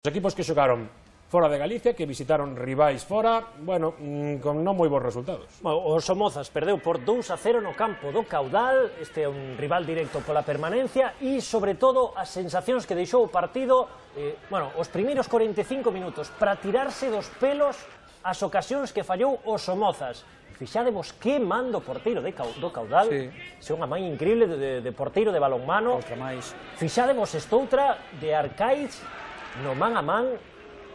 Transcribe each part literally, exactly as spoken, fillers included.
Os equipos que xogaron fora de Galicia, que visitaron rivais fora, bueno, con non moi bons resultados. O Somozas perdeu por dous a cero no campo do Caudal, este é un rival directo pola permanencia, e, sobre todo, as sensacións que deixou o partido, eh, bueno, os primeiros corenta e cinco minutos, para tirarse dos pelos as ocasións que fallou o Somozas. Fixadevos que mando porteiro de, do Caudal, sí. Se unha man increíble de, de, de porteiro de balonmano. Outra máis. Fixadevos estoutra de Arcaiz no man a man.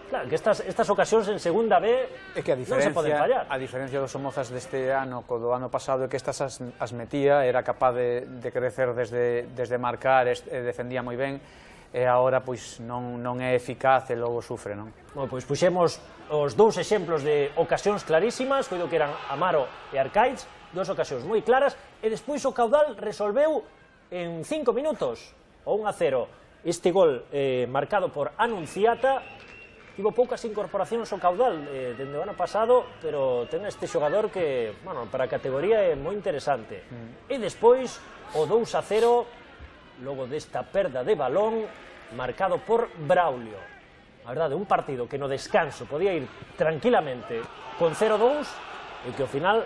Claro, que estas, estas ocasións en segunda B é que a non se poden fallar. A diferencia dos Somozas deste ano co do ano pasado é que estas as, as metía, era capaz de, de crecer desde, desde marcar, e defendía moi ben, e agora pois non, non é eficaz e logo sufre, non? Bueno, pois puxemos os dous exemplos de ocasións clarísimas, coido que eran Amaro e Arcaiz, dúas ocasións moi claras, e despois o Caudal resolveu en cinco minutos, o un a cero. Este gol eh, marcado por Anunciata. Tivo poucas incorporacións ao Caudal eh, dende o ano pasado, pero ten este xogador que, bueno, para a categoría é moi interesante. Mm. E despois, o dous a cero, logo desta perda de balón, marcado por Braulio. A verdade, un partido que no descanso podía ir tranquilamente con cero a dous, e que ao final,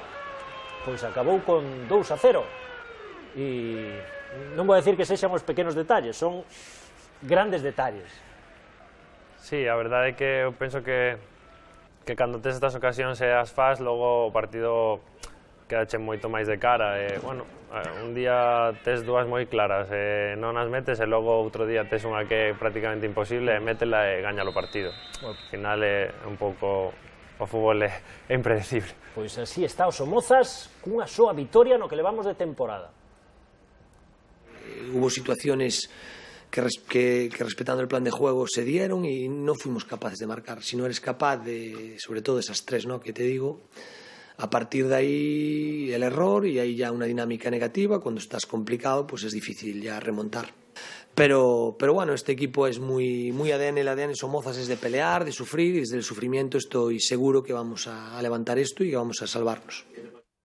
pois acabou con dous a cero. E non vou dicir que sexan os pequenos detalles, son grandes detalles. Sí, a verdade é que eu penso que que cando tes estas ocasións e as fas, logo o partido quedache moito máis de cara. E, bueno, un día tes dúas moi claras e non as metes, e logo outro día tes unha que é prácticamente imposible e métela e gaña o partido. Al final é un pouco, o fútbol é impredecible. Pois así está o Somozas, cunha soa vitoria no que levamos de temporada. Hubo situaciones Que, res, que, que respetando el plan de juego se dieron y no fuimos capaces de marcar. Si no eres capaz de, sobre todo esas tres, ¿no?, que te digo, a partir de ahí el error, y ahí ya una dinámica negativa. Cuando estás complicado, pues es difícil ya remontar. Pero, pero bueno, este equipo es muy, muy A D N, el A D N Somozas es de pelear, de sufrir, y desde el sufrimiento estoy seguro que vamos a, a levantar esto y que vamos a salvarnos.